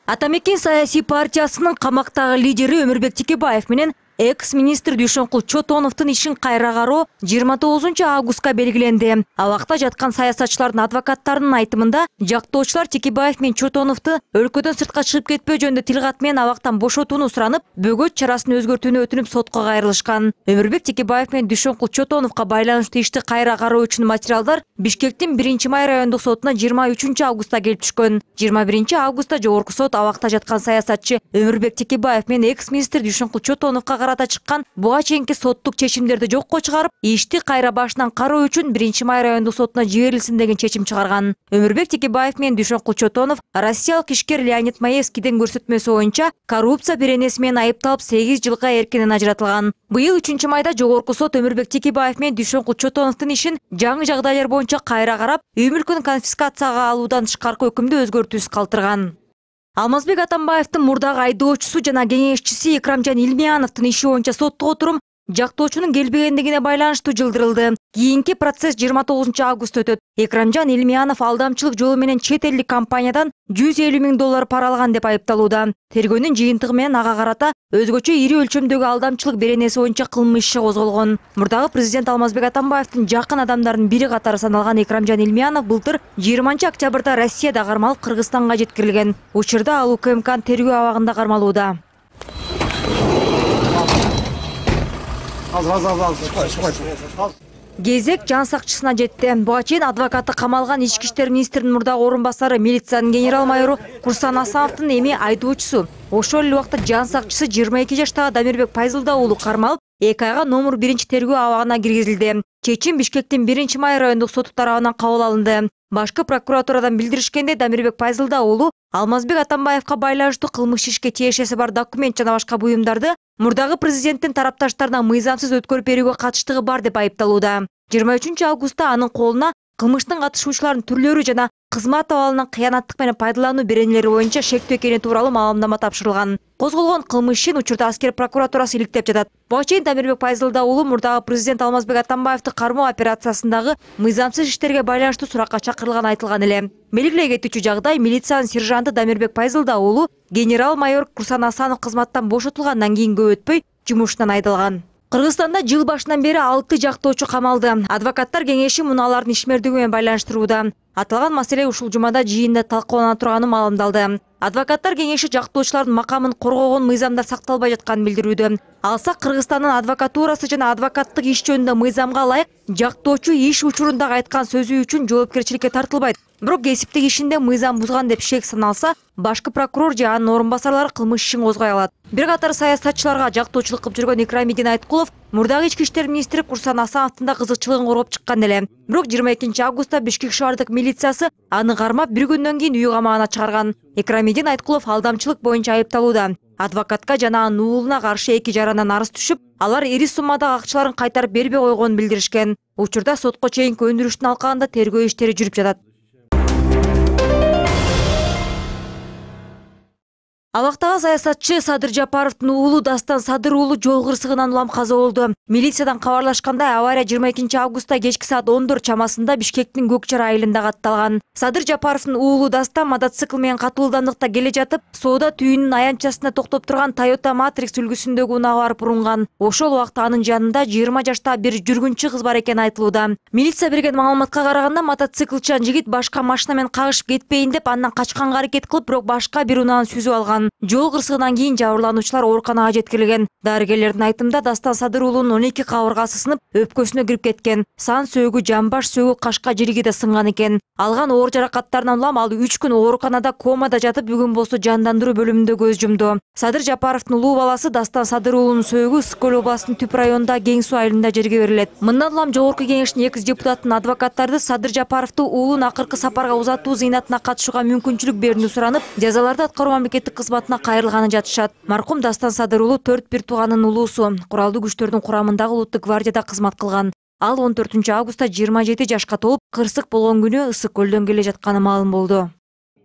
Атамекен саясий партиясынын камактагы лидери Өмүрбек Текебаев менен экс-министр Дүйшөнкул Чотоновдун ишин кайра кароо 29 августка белгиленди. Абакта жаткан саясатчылардын адвокаттарынын айтымында жактоочулар Текебаев менен Чотоновду өлкөдөн сыртка чыгып кетпөө жөнүндө тил кат менен абактан бошотууну суранып, бөгөт чарасын өзгөртүүнү өтүнүп сотко кайрылышкан. Өмүрбек Текебаев менен Дүйшөнкул Чотоновго байланыштуу ишти кайра кароо үчүн материалдар Бишкектин 1-май райондук сотуна 23 августта келип түшкөн. 21 августта жогорку сот абакта жаткан саясатчы Өмүрбек Текебаев менен экс-министр Дүйшөнкул Чотоновго карата чыккан буга чейинки соттук чечимдерди жокко чыгарып, ишти кайра башынан кароо үчүн 1-май райондук сотуна жиберилсин деген чечим чыгарган. Өмүрбек Текебаев менен Дүйшөнкул Чотонов россиялык ишкер Леонид Маевскийдин көрсөтмөсү боюнча коррупция беренеси менен айыпталып 8 жылга эркинен ажыратылган. Быйыл 3-майда жогорку сот Өмүрбек Текебаев менен Дүйшөнкул Чотоновдун ишин жаңы жагдайлар боюнча кайра карап, үй мүлкүн конфискацияга алуудан тышкаркы өкүмдү өзгөртүүсүз калтырган. Алмазбек Атамбаевдин мурдагы айдоочусу жана кеңешчиси Экрамжан Илмияновдун иши боюнча соттук отурум жактоочунун келбегендигине байланыштуу жылдырылды. Кийинки процесс 29 августта өтөт. Экрамжан Илмиянов алдамчылык жолу менен чет элдик компаниядан $150,000 пара алган деп айыпталууда. Тергөөнүн жыйынтыгы менен ага карата өзгөчө ири өлчөмдөгү алдамчылык беренеси боюнча кылмыш иши козголгон. Мурдагы президент Алмазбек Атамбаевдин жакын адамдарынын бири катары саналган Экрамжан Илмиянов былтыр 20 октябрда Россияда кармалып Кыргызстанга жеткирилген. Учурда ал УКМКнын тергөө абагында кармалууда. Кезек жан сакчысына жетти. Буга чейин адвокаты камалган ички иштер министринин мурдагы орун басары, милициянын генерал майору Курсан Асановдун эми айдоочусу. Ошол эле убакта жан сакчысы 22 жаштагы Дамирбек Пайзылда уулу кармалып, 2 айга номер 1 тергөө абагына киргизилди. Чечим Бишкектин 1-май райондук соту тарабынан кабыл алынды. Башкы прокуратурадан билдиришкенде, Дамирбек Пайзылда уулу Алмазбек Атамбаевга байланыштуу кылмыш ишке тиешеси бар документ жана башка буюмдарды мурдагы президенттин тарапташтарына мыйзамсыз өткөрүп берүүгө катыштыгы бар деп айыпталууда. 23 августта анын колуна кылмыштын катышуучуларынын түрлөрү жана кызмат абалынан кыянаттык менен пайдалануу беренелери боюнча шектүү экени тууралуу маалымдама тапшырылган. Козголгон кылмыш ишин учурда аскер прокуратурасы иликтеп жатат. Буга чейин Дамирбек Пайзылда уулу мурдагы президент Алмазбек Атамбаевди кармоо операциясындагы мыйзамсыз иштерге байланыштуу суракка чакырылганы айтылган эле. Белгилей кетүүчү жагдай, милициянын сержанты Дамирбек Пайзылда уулу генерал майор Курсан Асанов кызматтан бошотулгандан кийин көп өтпөй жумушунан айдалган. Кыргызстанда жыл башынан бери 6 жактоочу камалды. Адвокаттар кеңеши муну алардын ишмердиги менен байланыштырууда. Аталган маселе ушул жумада жыйында талкуулана турганы маалымдалды. Адвокаттар кеңеши жактоочулардын макамын коргогон мыйзамдар сакталбай жатканын билдирүүдө. Алсак, Кыргызстандын адвокатурасы жана адвокаттык иш жөнүндө мыйзамга ылайык жактоочу иш учурундагы айткан сөзү үчүн жоопкерчиликке тартылбайт. Бирок кесиптик ишинде мыйзам бузган деп шек саналса, башкы прокурор же анын орун басарлары кылмыш ишин козгой алат. Бир катар саясатчыларга жактоочулук кылып жүргөн Экрамидин Айткулов мурдагы ички иштер министри Курсан Асановдун да кызыкчылыгын коргоп чыккан эле. Бирок 22 августта Бишкек шаардык милициясы аны кармап бир күндөн кийин үй камагына чыгарган. Экрамидин Айткулов алдамчылык боюнча айыпталууда. Адвокатка жана анын уулуна каршы 2 жарандан арыз түшүп, алар ири суммадагы акчаларын кайтарып бербей койгонун билдиришкен. Учурда сотко чейинки өндүрүштүн алкагында тергөө иштери жүрүп жатат. Абактагы саясатчы Садыр Жапаровдун уулу Дастан Садыр уулу жол кырсыгынан улам каза болду. Милициядан кабарлашкандай, авария 22 августта кечки саат 14 чамасында Бишкектин Көкчар айылында катталган. Садыр Жапаровдун уулу Дастан мотоцикл менен катуу ылдамдыкта келе жатып, соода түйүнүнүн аянтчасында токтоп турган Toyota Matrix үлгүсүндөгү унаага барып урунган. Ошол убакта анын жанында 20 жаштагы бир жүргүнчү кыз бар экени айтылууда. Милиция берген маалыматка караганда, мотоциклчан жигит башка машина менен кагышып кетпейин деп андан качканга аракет кылып, бирок башка бир унааны сүзүп алган. Жол кырсыгынан кийин жабырлануучулар ооруканага жеткирилген. Дарыгерлердин айтымында, Дастан Садыр уулунун 12 кабыргасы сынып, өпкөсүнө кирип кеткен. Сан сөөгү, жамбаш сөөгү, кашка жириги да сынган экен. Алган оор жаракаттарынан улам ал 3 күн ооруканада комада жатып, бүгүн болсо жандандыруу бөлүмүндө көз жумду. Садыр Жапаровдун улуу баласы Дастан Садыр уулунун сөөгү Ысык көл областынын Түп районундагы Кең суу айылында жерге берилет. Мындан улам жогорку кеңештин экс депутатынын адвокаттарды Садыр Жапаровду уулун акыркы сапарга узатуу зыйнатына катышууга мүмкүнчүлүк берүүнү суранып, жазаларды аткаруу мамлекеттик кызматына кайрылганы жатышат. Маркум Дастан Садыр уулу 4 бир тууганын улуусу, куралдуу күчтөрдүн курамындагы улуттук гвардияда кызмат кылган. Ал 14 августта 27 жашка толуп, кырсык болгон күнү Ысык көлдөн келе жатканы маалым болду.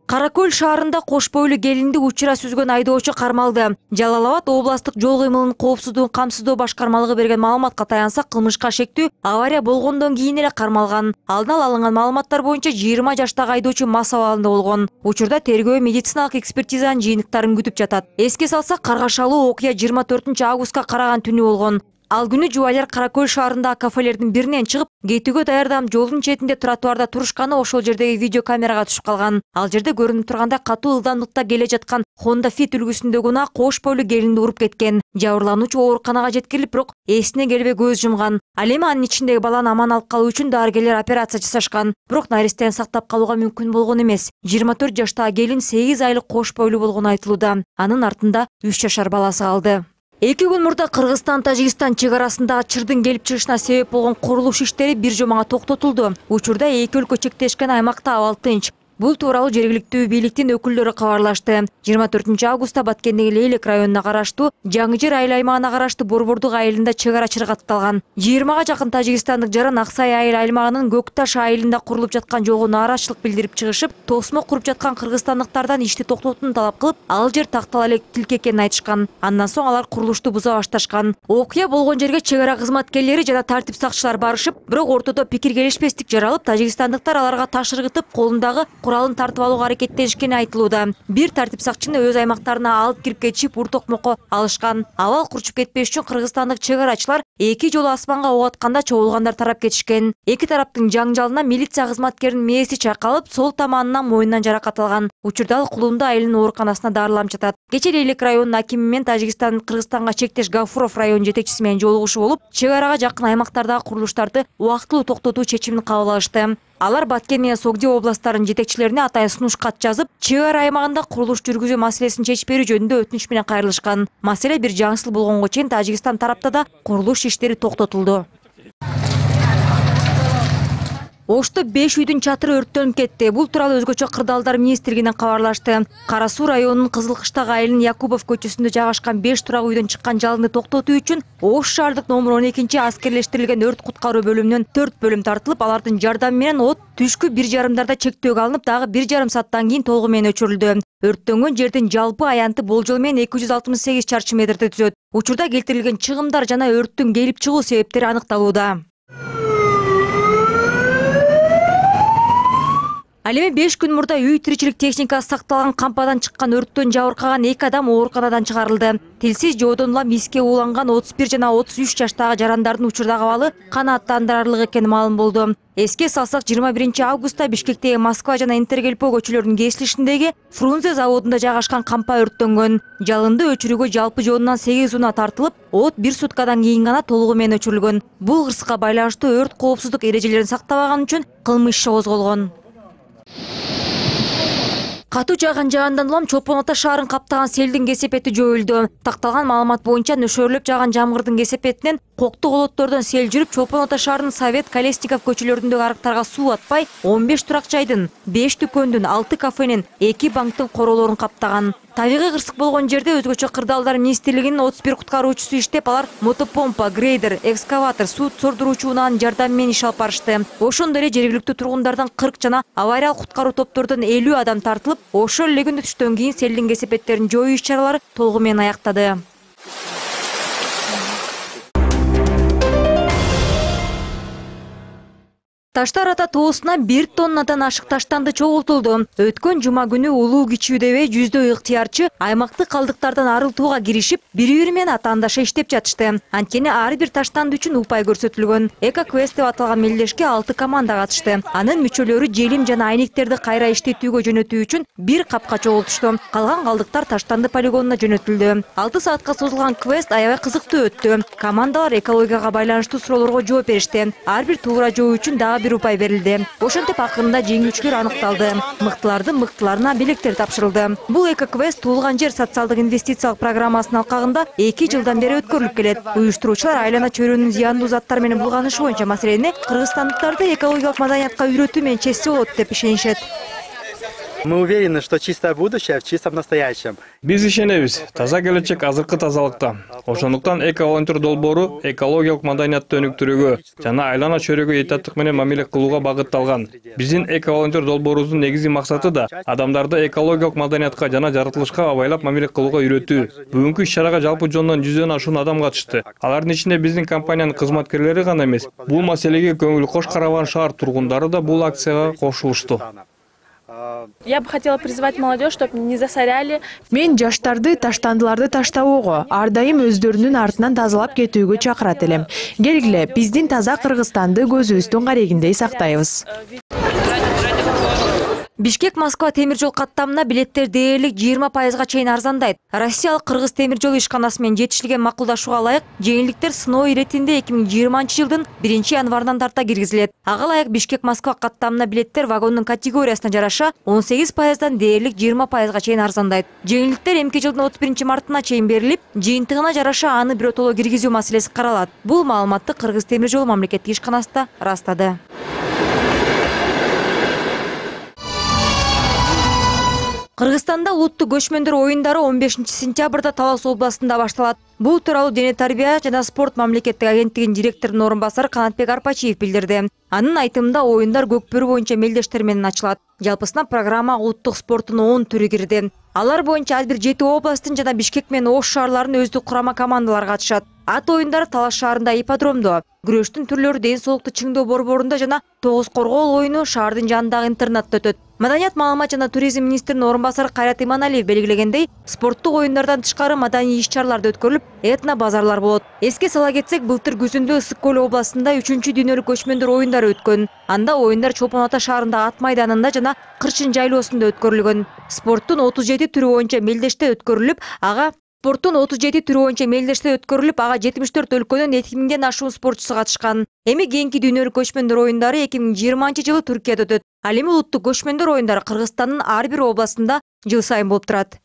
Каракөл шаарында кош бойлуу келинди учура сүзгөн айдоочу кармалды. Жалал Абад областык жол кыймылынын коопсуздугун камсыздоо башкармалыгы берген маалыматка таянсак, кылмышка шектүү авария болгондон кийин эле кармалган. Алдын ала алынган маалыматтар боюнча 20 жаштагы айдоочу мас абалында болгон. Учурда тергөө медициналык экспертизанын жыйынтыктарын күтүп жатат. Эске салсак, каргашалуу окуя 24 августка караган түнү болгон. Ал күнү жубайлар Каракөл шаарындагы кафелердин биринен чыгып, кетүүгө даярданып жолдун четинде тротуарда турушканы ошол жердеги видеокамерага түшүп калган. Ал жерде көрүнүп тургандай катуу ылдамдыкта келе жаткан Honda Fit үлгүсүндөгү унаа кош бойлуу келинди уруп кеткен. Жабырлануучу ооруканага жеткирилип, бирок эсине келбей көз жумган. Ал эми анын ичиндеги баланы аман алып калуу үчүн дарыгерлер операция жасашкан. Бирок наристени сактап калууга мүмкүн болгон эмес. 24 жаштагы келин 8 айлык кош бойлуу болгону айтылууда. Анын артында 3 жашар баласы калды. 2 күн мурда Кыргызстан-Тажикстан чек арасындагы чырдын келип чыгышына себеп болгон курулуш иштери бир жомага токтотулду. Учурда эки өлкө чектешкен аймакта абал тынч. Бул тууралуу жергиликтүү бийликтин өкүлдөрү кабарлашты. 24 августта Баткендеги Лейлек районуна караштуу Жаңы-Жер айыл аймагына караштуу Борбордук айылында чек ара чыргатталган. 20га жакын тажикстандык жаран Аксай айыл аймагынын Көкташ айылында курулуп жаткан жолго нааразычылык билдирип чыгышып, тосмо куруп жаткан кыргызстандыктардан ишти токтотууну талап кылып, ал жер тактала элек тилке экенин айтышкан. Андан соң алар курулушту буза башташкан. Окуя болгон жерге чек ара кызматкерлери жана тартип сакчылар барышып, бирок ортодо пикир келишпестик жаралып, тажикстандыктар аларга таш ыргытып, колундагы куралын тартып алууга аракеттенишкени айтылууда. Бир тартип сакчыны өз аймактарына алып кирип кетишип, ур-токмокко алышкан. Абал курчуп кетпеш үчүн кыргызстандык чек арачылар эки жолу асманга ок атканда чогулгандар тарап кетишкен. Эки тараптын жаңжалына милиция кызматкеринин мээси чайкалып, сол таманынан мойнунан жаракат алган. Учурда ал Кулунда айылынын ооруканасына дарыланып жатат. Кечээ Лейлек районунун акими менен Тажикстандын Кыргызстанга чектеш Гафуров район жетекчиси менен жолугушуу болуп, чек арага жакын аймактардагы курулуштарды убактылуу токтотуу чечимин кабыл алышты. Алар Баткен менен Согди областарынын жетекчилерине атайын сунуш кат жазып, чек ара аймагында курулуш жүргүзүү маселесин чечип берүү жөнүндө өтүнүч менен кайрылышкан. Маселе бир жаңсыл болгонго чейин Тажикстан тарапта да курулуш иштери токтотулду. Ошто 5 үйдүн чатыры өрттөнүп кетти. Бул тууралуу өзгөчө кырдаалдар министрлигинен кабарлашты. Кара Суу районунун Кызылкыштагы айылынын Якубов көчөсүндө жайгашкан 5 турак үйдөн чыккан жалынды токтотуу үчүн Ош шаардык номер 12 аскерлештирилген өрт куткаруу бөлүмүнөн 4 бөлүм тартылып, алардын жардамы менен от түшкү 1,5 чектөөгө алынып, дагы 1,5 сааттан кийин толугу менен өчүрүлдү. Өрттөнгөн жердин жалпы аянты болжол менен 268 чарчы метрди түзөт. Учурда келтирилген чыгымдар жана өрттүн келип чыгуу себептери аныкталууда. Ал эми 5 күн мурда үй тиричилик техникасы сакталган кампадан чыккан өрттөн жабыркаган 2 адам ооруканадан чыгарылды. Тилсиз жоодон улам миске ууланган 31 жана 33 жаштагы жарандардын учурдагы абалы канааттандырарлык экени маалым болду. Эске салсак, 21 августта Бишкектеги Москва жана Интергельпо көчөлөрүнүн кесилишиндеги Фрунзе заводунда жайгашкан кампа өрттөнгөн. Жалынды өчүрүүгө жалпы жоонунан 8 унаа тартылып, от 1 суткадан кийин гана толугу менен өчүрүлгөн. Бул кырсыкка байланыштуу өрт коопсуздук эрежелерин сактабаган үчүн кылмыш иши козголгон. Катуу жааган улам Чолпон Ата шаарын каптаган селдин кесепети жоюлду. Такталган маалымат боюнча нөшөрлөп жааган жамгырдын кесепетинен коктук олоттордон сел жүрүп, Чолпон Ата шаарынын Совет, Колесников көчөлөрүндөгү арыктарга суу атпай, 15 турак жайдын, 5 дүкөндүн, 6 кафенин, 2 банктын королорун каптаган. Табигый кырсык болгон жерде өзгөчө кырдаалдар министрлигинин 31 куткаруучусу иштеп, алар мотопомпа, грейдер, экскаватор, суу сордуруучу унаанын жардамы менен иш алып барышты. Ошондой эле жергиликтүү тургундардан 40 жана авариялык куткаруу топтордон 50 адам тартылып, ошол эле күндө түштөн кийин селдин кесепеттерин жоюу иш-чаралары толугу менен аяктады. Таштар Ата тоосуна 1 тоннадан ашык таштанды чогултулду. Өткөн жума күнү улуу кичүү дебей жүздөй ыктыярчы аймактык калдыктардан арылтууга киришип, бири-бири менен атаандаша иштеп жатышты. Анткени ар бир таштанды үчүн упай көрсөтүлгөн. Эко-квест деп аталган мелдешке 6 команда катышты. Анын мүчөлөрү желим жана айнектерди кайра иштетүүгө жөнөтүү үчүн бир капка чогултушту. Калган калдыктар таштанды полигонуна жөнөтүлдү. 6 саатка созулган квест аябай кызыктуу өттү. Командалар экологияга байланыштуу суроолорго жооп беришти. Ар бир туура жоо үчүн дагы бир упай берилди. Ошентип акырында жеңүүчүлөр аныкталды. Мыктылардын мыктыларына белектер тапшырылды. Бул эко-квест Туулган жер социалдык инвестициялык программасынын алкагында 2 жылдан бери өткөрүлүп келет. Уюштуруучулар айлана чөйрөнүн зыяндуу заттар менен булганышы боюнча маселени кыргызстандыктарды экологиялык маданиятка үйрөтүү менен чечсе болот деп ишенишет. Мы уверены, что чистое будущее в чистом настоящем. Биз ишенебиз, таза келечек азыркы тазалыкта. Ошондуктан эко-волонтер долбоору экологиялык маданиятты өнүктүрүүгө жана айлана чөйрөгө этаттык менен мамиле кылууга багытталган. Биздин эко-волонтер долбоорубуздун негизги максаты да адамдарды экологиялык маданиятка жана жаратылышка абайлап мамиле кылууга үйрөтүү. Бүгүнкү иш-чарага жалпы жонунан 100дөн ашуун адам катышты. Алардын ичинде биздин компаниянын кызматкерлери гана эмес, бул маселеге көңүл кош караган шаар тургундары да бул акцияга кошулушту. Я бы хотела призвать молодежь, чтобы не засоряли. Мен жаштарды таштандыларды таштабоого, ар дайым өздөрүнүн артынан тазалап кетүүгө чакырат элем. Келгиле, биздин таза Кыргызстанды көзүбүздүн карегиндей сактайбыз. Бишкек-Москва темир жол каттамына билеттер дээрлик 20%га чейин арзандайт. Россиялык Кыргыз темир жол ишканасы менен жетишилген макулдашууга ылайык жеңилдиктер сыноо иретинде 2020-жылдын 1-январынан тарта киргизилет. Ага ылайык Бишкек-Москва каттамына билеттер вагондун категориясына жараша 18%дан дээрлик 20%га чейин арзандайт. Жеңилдиктер эмки жылдын 31-мартына чейин берилип, жыйынтыгына жараша аны биротоло киргизүү маселеси каралат. Бул маалыматты Кыргыз темир жол мамлекеттик ишканасы ырастады. Кыргызстанда улуттук көчмөндөр оюндары 15-сентябрда Талас областында башталат. Бул тууралуу Дене тарбия жана спорт мамлекеттик агенттигинин директорунун орун басары Канатбек Арпачиев билдирди. Анын айтымында оюндар Көкбөрү боюнча мелдештер менен ачылат. Жалпысына программага улуттук спорттун 10 түрү кирди. Алар боюнча ар бир 7 областтын жана Бишкек менен Ош шаарларынын өздүк курама командалары катышат. Ат оюндары Талас шаарында ипподромдо, күрөштүн түрлөрү ден соолукту чыңдоо борборунда жана тогуз коргоол оюну шаардын жанындагы интернатта өтөт. Маданият, маалымат жана туризм министринин орун басары Кайрат Иманалиев белгилегендей, спорттук оюндардан тышкары маданий иш-чаралар да өткөрүлүп, этно базарлар болот. Эске сала кетсек, былтыр күзүндө Ысык көл областында 3-дүйнөлүк көчмөндөр оюндары өткөн. Анда оюндар Чолпон Ата шаарындагы ат майданында жана Кырчын жайлоосунда өткөрүлгөн. Спорттун 37 түрү боюнча мелдеште өткөрүлүп, ага 74 өлкөнүн 2000ден ашуун спортчусу катышкан. Эми кийинки дүйнөлүк көчмөндөр оюндары 2020-жылы Түркияда өтөт. Ал эми улуттук көчмөндөр оюндары Кыргызстандын ар бир областында жыл сайын болуп турат.